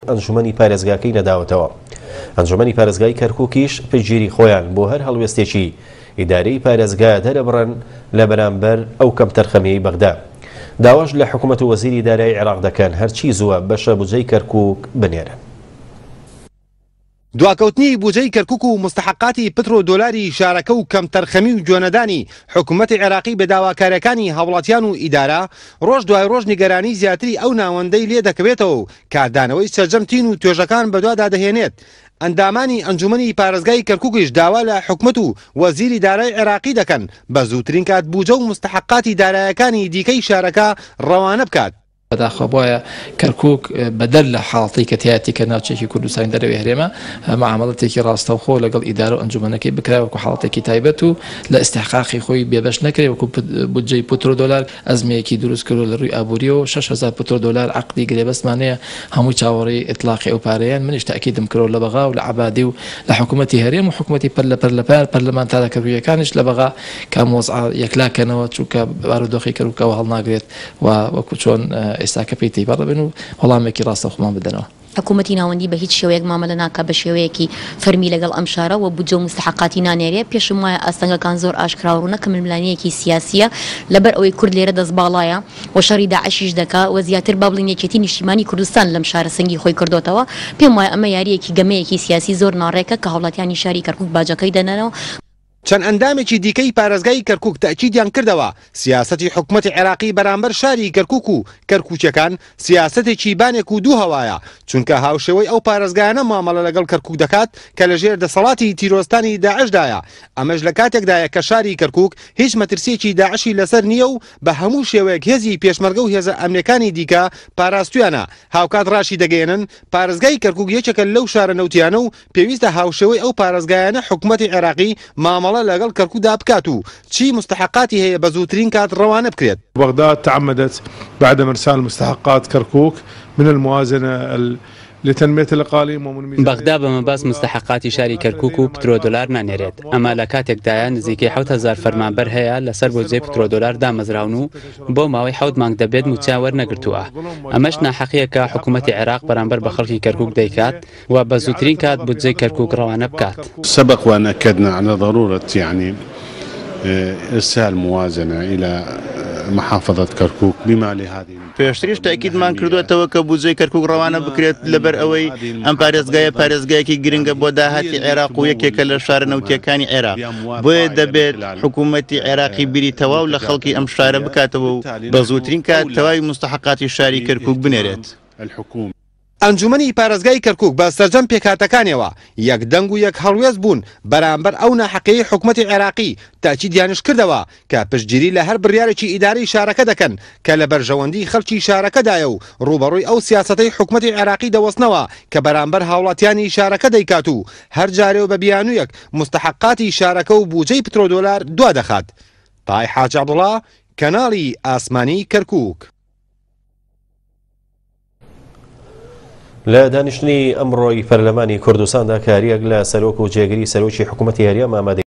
ئەنجومەنی پارێزگاکەی نەداوەتەوە. ئەنجومەنی پارێزگای کەرکوکیش پشتگیری خۆیان بۆ هەر هەڵوێستێکی ئیدارەی پارێزگا دەرەبڕن لە بەرامبەر ئەو کەمتەرخەمیەی بەغدا. داواش لە حکومەت و وەزیری دارایی عێراق دەکەن هەرچی زووە بەشە بودجەی کەرکوک بنێرن. دواکەوتنی بودجەی کەرکوک و موستەحەقاتی پترۆ دۆلاری شارەکە و کەمتەرخەمی و گوێنەدانی حکومەتی عێراقی بە داواکاریەکانی هاوڵاتیان و ئیدارە ڕۆژ دوای ڕۆژ نیگەرانی زیاتری ئەو ناوەندەی لێ دەکەوێتەوە و کاردانەوەی سەرجەم تین و توێژەکان بەدوادا دەهێنێت. ئەندامانی ئەنجومەنی پارێزگای کەرکوکیش داوا لە حکومەت و وەزیری دارای عێراقی دەکەن بە زووترین کات بوجە و موستەحەقاتی دارایەکانی دیکەی شارەکە ڕەوانە بکات. بەداخەوە بۆیە کەرکوک بەدەر لە حاڵەتی کە تیایەتی کە ناوچەیەکی کوردستانی دەرەوەی هەرێمە معامەڵەتێکی ڕاستەوخۆ لەگەڵ ئیدارە و ئەنجومەنەکەی بکرا وەکو حاڵەتێکی تایبەت و لە ئیستحقاقی خۆی بێبەش نەکرێ وەکو بودجەی پترۆدۆلار ئەزمەیەکی دروست کردوە لە ڕووی ئابووریەوە 6000 پترۆدۆلار عەقدی گرێبەستمان هەیە هەمووی چاوەڕێی ئیتڵاقی ئەو پارەیەن منیش تەئکیدم کردوە لە بەغا و لە عەبادی و لە حکوومەتی هەرێم و حکوومەتی پەرلەمانتارە کەرکوکیەکانیش لە بەغا کە ئەم وەزعە یەکلا کەنەوە چونکە بارودۆخی کەرکوک ئەوە هەڵناگرێت و وەکو چۆن ئێستاکە پێی تێیپەڕ دەبن و وەڵامێکی ڕاستەوخۆمان بدەنەوە. حکوومەتی ناوەندی بە هیچ شێوەیەک مامەلە ناکا بە شێوەیەکی فەرمی لەگەڵ ئەم شارە و بودجە و موستەحەقاتی نانێرێ، پێشم وایە ئاستەنگەکان زۆر ئاشکرا و ڕوونە کە ململانێیەکی سیاسییە لەبەر ئەوەی کورد لێرە دەستباڵایە و شەڕی داعشیش دەکا و زیاتر با بڵێین یەکێتی نیشتیمانی کوردستان لەم شارە سەنگی خۆی کردۆتەوە، پێم وایە ئەمە یارییەکی گەمەیەکی سیاسی زۆر ناڕێکە کە هاوڵاتیانی شاری کەرکوک باجەکەی دەدەنەوە. چەند ئەندامێکی دیکەی پارێزگای کەرکوک تەئکیدیان کردەوە، سیاسەتی حکومەتی عێراقی بەرامبەر شاری کەرکوک و کەرکوکیەکان سیاسەتێکی بانێک و دوو هەوایە، چونکە هاوشێوەی ئەو پارێزگایانە مامەڵە لەگەڵ کەرکوک دەکات کە لەژێر دەسەڵاتی تیرۆستانی داعشدایە، ئەمەش لە کاتێکدایە کە شاری کەرکوک هیچ مەترسیەکی داعشی لەسەر نییە و بە هەموو شێوەیەک هێزی پێشمەرگە و هێزە ئەمنیەکانی دیکە پاراستویانە، هاوکات راشیدەگەیەنن پارێزگای کەرکوک یەکێکە لەو شارە نەوتیانە و پێویستە هاوشێوەی ئەو پارێزگایانە حکومەتی عێراقی مامەڵە لەگەڵ کەرکوکدا بکات و چی موستەحەقاتی هەیە بە زووترین کات ڕەوانە بکرێت. بغداد تعمدت بعدم ارسال مستحقات کرکوک من الموازنە لتنمیە الاقالیم ومن میزانیە بەغدا بە مەبەست موستەحەقاتی شاری کەرکوک و پترۆدۆلار نانێرێت، ئەمە لە کاتێکدایە نزیکەی 7000 فەرمانبەر هەیە لەسەر بودجەی پترۆدۆلار دامەزراون و بۆ ماوەی حەوت مانگ دەبێت مووچەیان وەرنەگرتووە، ئەمەش ناحەقییەکە حکومەتی عێراق بەرامبەر بە خەڵکی کەرکوک دەیکات. و بە زووترین کات بودجەی کەرکوک ڕەوانە بکات. سبق وان اکدنا علی ضرورە یعنی ارسال موازنە الی محافظە کرکوک بما لهذه. پێشتریش تەئکیدمان کردووەتەوە کە بودجەی کەرکوک ڕەوانە بکرێت لەبەر ئەوەی ئەم پارێزگایە پارێزگایەکی گرنگە بۆ داهاتی عێراق و یەکێکە لە شارە نەوتییەکانی عێراق بۆیە دەبێت حکوومەتی عێراقی بیری تەواو لە خەڵکی ئەم شارە بکاتەوە و بە زووترین کات تەواوی موستەحەقاتی شاری کەرکوک بنێرێت. ئەنجومەنی پارێزگای کەرکوک بە سەرجەم پێکهاتەکانیەوە یەک دەنگ و یەک هەڵوێست بوون بەرامبەر ئەو ناحەقیەی حکومەتی عێراقی، تەئکیدیانش کردەوە کە پشتگیری لە هەر بڕیارێکی ئیدارەی شارەکە دەکەن کە لە بەرژەوەندی خەڵکی شارەکەدایە و ڕووبەڕووی ئەو سیاسەتەی حکومەتی عێراقی دەوەستنەوە کە بەرامبەر هاوڵاتیانی شارەکە دەیکات و هەر جارێ و بە بیانوویەک موستەحەقاتی شارەکە و بوجەی پترۆدۆلار دوادەخات. تای حاج عەبدوڵا، کەناڵی ئاسمانی کەرکوک. لە دانیشتنی ئەمڕۆی پەرلەمانی کوردستاندا کاریەک لە سەرۆک و جێگری سەرۆکی حکوومەتی هەرێم ئامادەی.